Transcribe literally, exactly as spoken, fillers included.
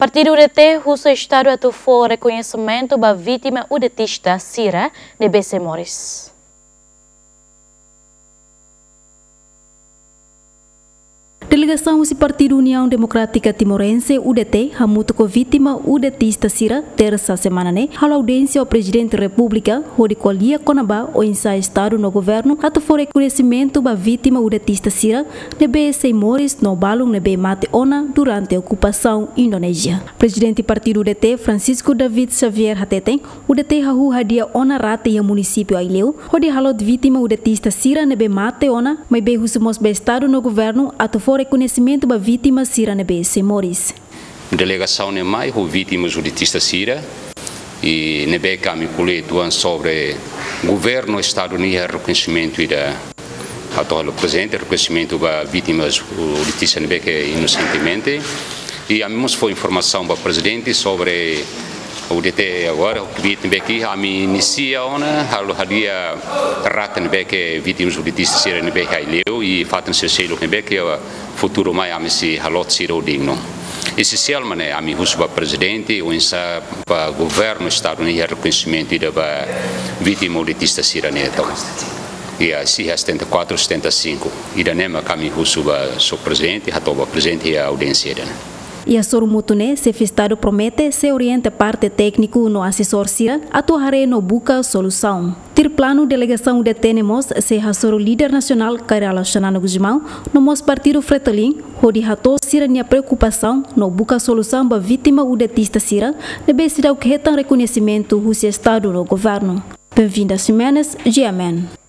Partidu U D T husu Estadu atu fó rekoñesimentu ba vítima U D Tista sira ne'ebé sei moris. Delegasaun husi Partidu Uniaun Demokrátika Timorense, U D T, hamutuk ho vítima U D Tista sira, tersa semana ne'e, halo audiénsia ho Prezidente Repúblika, hodi ko'alia kona-ba oinsá Estadu no Governu atu fó rekoñesimentu ba vítima U D Tista sira ne'ebé sei moris no balun ne'ebé mate ona durante okupasaun Indonézia. Prezidente Partidu U D T, Francisco David Xavier, hateten, U D T hahú hadi'a ona rate iha munisípiu Aileu, hodi halot vítima U D Tista sira ne'ebé mate ona, maibé husu mós ba Estadu no Governu atu fó rekoñesimentu ba vítima sira ne'ebé sei moris. Delegasaun ne'e mai ho vítimas U D Tista sira, i ne'ebé ke ami ko'alia uitoan sobre Governu Estadu nia rekoñesimentu ida atu halo prezente, rekoñesimentu ba vítimas U D Tista ne'ebé ke inosentemente. I ami mós fó informasaun ba Prezidente sobre U D T agora, o kbiit ne'ebé ke ami inisia ona, halo hadi'a rate ne'ebé ke vítimas U D Tista sira ne'ebé iha Aileu, i fatin sira seluk ne'ebé ke futuru mai ami sei halot sira ho dignu. Esensiál mak ne'e ami husu ba Prezidente, oinsá ba Governu Estadu nia rekoñesimentu ida ba vítima U D Tista sira ne'e tau. Iha, sei iha setenta e quatro, setenta e cinco. Ida-ne'e mak ami husu ba Señór Prezidente, hato'o ba Prezidente iha audiénsia ida-ne'e. Iha sorumutu ne'e, Xefe Estadu promete sei orienta parte tékniku no asesór sira atu haree no buka solusaun. Tuir planu, delegasaun U D T ne'e mós sei hasoru líder nasionál Kay Rala Xanana Gusmão, no mós partidu Fretilin, hodi hato'o sira-nia preokupasaun no buka solusaun ba vítima U D Tista sira ne'ebé seidauk hetan rekoñesimentu husi Estadu no Governu. Benvinda Ximenes, G M N.